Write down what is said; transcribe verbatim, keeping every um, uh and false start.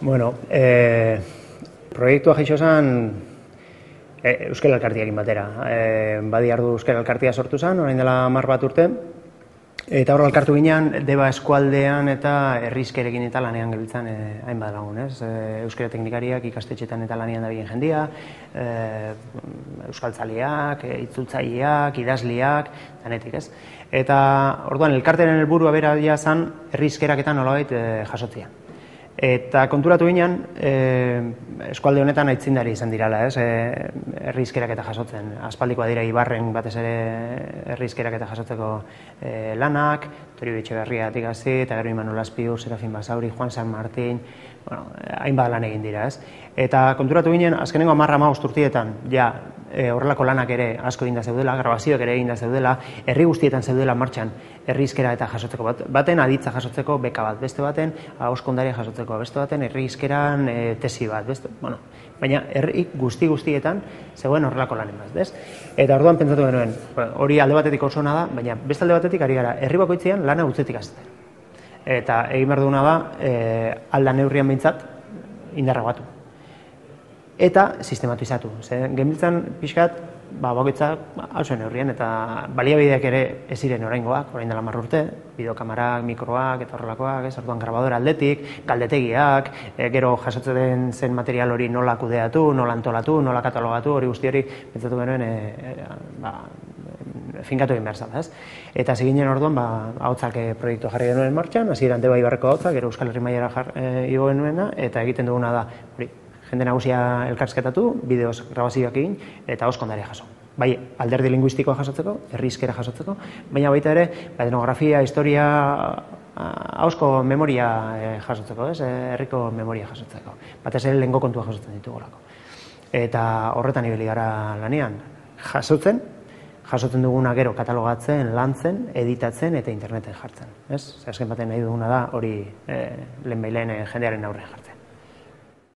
Bueno, e, proiektua jaixo zen e, Euskal Elkartiakin batera. E, badi ardu Euskal Elkartia sortu zen, orain dela hamar bat urte, eta hor elkartu ginean, Deba eskualdean eta herrizkerekin eta lanean gabiltzan e, hainbat lagun, ez? E, euskara teknikariak ikastetxetan eta lanean dabilen jendia, e, euskaltzaleak, e, itzultzaileak, idazliak, danetik, ez? Eta orduan elkarteren helburua bera zen herrizkerak eta nolabait e, jasotzea. Eta konturatu ginen, e, eskualde honetan aitzindari izan dirala, ez? E, herrizkerak eta jasotzen. Aspaldikoa dira Ibarren batez ere herrizkerak eta jasotzeko e, lanak, Torio Etxeberriatik hasi, eta gero Imanol Azpiur, Serafin Basauri, Juan San Martín, bueno, hainbat lan egin dira, ez? Eta konturatu ginen, azkenengo hamar hamabost urteetan, ja, e, horrelako lanak ere asko eginda zeudela, grabazioak ere eginda zeudela, herri guztietan zeudela martxan herrizkera eta jasotzeko bat, baten aditza jasotzeko beka bat, beste baten ahoskondaria jasotzeko, beste baten herrizkeran e, tesi bat, beste, bueno, baina herri guzti guztietan zegoen horrelako lanen bat, bez? Eta orduan pentsatu genuen, hori alde batetik oso ona da, baina beste alde batetik ari gara, herri bakoitzean lana utzetik azten. Eta egin behar duguna da, e, alda neurrian behintzat, indarra batu. Eta sistematizatu. Genbiltzan pixkat, ba, bakoitzak hausen neurrien, eta baliabideak ere ez ziren oraingoak, orain dela hamar urte, bideokamarak, mikroak eta horrelakoak, ez, orduan grabadora aldetik, galdetegiak, e, gero jasotzen zen material hori nola kudeatu, nola antolatu, nola katalogatu, hori guzti hori, pentsatu genuen, e, e, ba, finkatu egin behar zala, ez? Eta ziginen orduan, ba, ahotsak proiektu jarri genuen martxan, hasieran Deba Ibarreko ahotsak, gero Euskal Herri mailara e, igo genuena, eta egiten duguna da, hori, jende nagusia elkarrizketatu, bideoz grabazioak egin, eta ahoskondaria jaso. Bai, alderdi linguistikoa jasotzeko, herrizkera jasotzeko, baina baita ere, etnografia, historia, ahozko memoria jasotzeko, ez? Herriko memoria jasotzeko. Batez ere lehengo kontua jasotzen ditugolako. Eta horretan ibili gara lanean, jasotzen, jasotzen duguna gero katalogatzen, lantzen, editatzen eta interneten jartzen. Ez? Azken baten nahi duguna da hori lehenbailen jendearen aurrean jartzen.